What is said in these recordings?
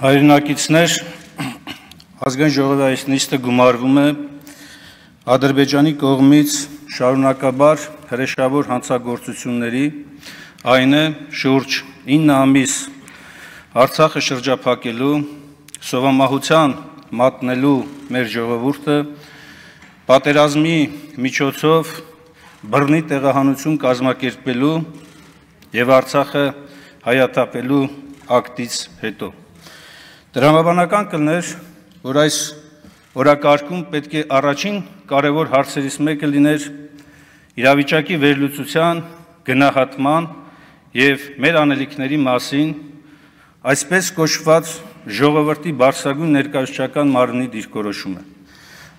Հայրենակիցներ, ազգային ժողովի այս նիստը գումարվում է Ադրբեջանի կողմից շարունակաբար հրեշավոր հանցագործությունների, այն է շուրջ 9 ամիս Արցախը շրջափակելու, սովամահության մատնելու մեր ժողովուրդը, պատերազմի միջոցով բռնի տեղահանություն կազմակերպելու և Արցախը հայաթափելու ակտից հետո։ Տրամաբանական կլներ, որ այս օրակարգում պետք է առաջին կարևոր հարցերից մեկը լիներ իրավիճակի վերլուծության, գնահատման և մեր անելիքների մասին այսպես կոչված ժողովրդի բարձրագույն ներկայացուցչական մարմնի դիրքորոշումը,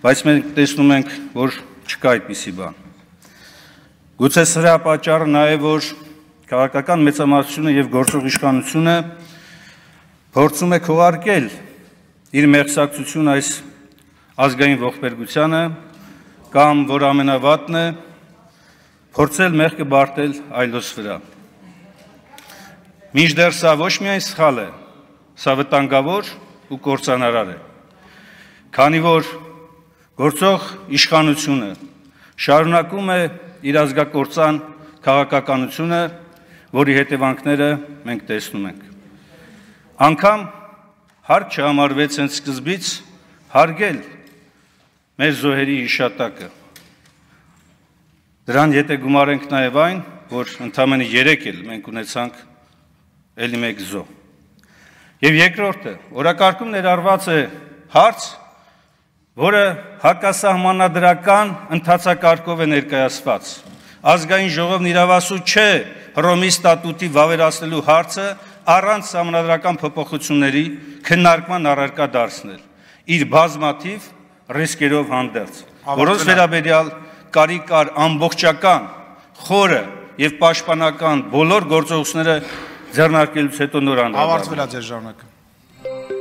բայց մենք տեսնում ենք, որ չկա այդպիսի բան։ Գուցե սրա պատճառը նա է, որ քաղաքական մեծամասնությունը և գործող իշխանությունը փորձում է քողարկել իր մեղսակցությունը այս ազգային ողբերգությանը կամ, որ ամենավատն է, փորձել մեղքը բարդել այլոց վրա։ Մինչդեռ սա ոչ միայն սխալ է, սա վտանգավոր ու կործանարար է, քանի որ գործող իշխանությունը շարունակում է իր ազգակործան քաղաքականությունը, որի հետևանքները մենք տեսնում ենք։ Անգամ հարկ չհամարվեց հենց սկզբից հարգել մեր զոհերի հիշատակը։ Դրան եթե գումարենք նաև այն, որ ընդամենը 3 էլ մենք ունեցանք էլի մեկ զոհ։ Եվ երկրորդը, օրակարգում ներառված է հարց, որը հակասահմանադրական ընթացակարգով է ներկայացված։ Ազգային ժողովն իրավասու չէ Հռոմի ստատուտի վավերացնելու հարցը առանց սահմանադրական փոփոխությունների քննարկման առարկա դարձնել, իր բազմաթիվ ռիսկերով հանդերձ, որոնց վերաբերյալ կարիք կար ամբողջական, խորը և պաշտպանական բոլոր գործողությունները ձեռնարկելուց հետո նոր անդրադառնալ։ Ավարտվել է ձեր ժամանակը։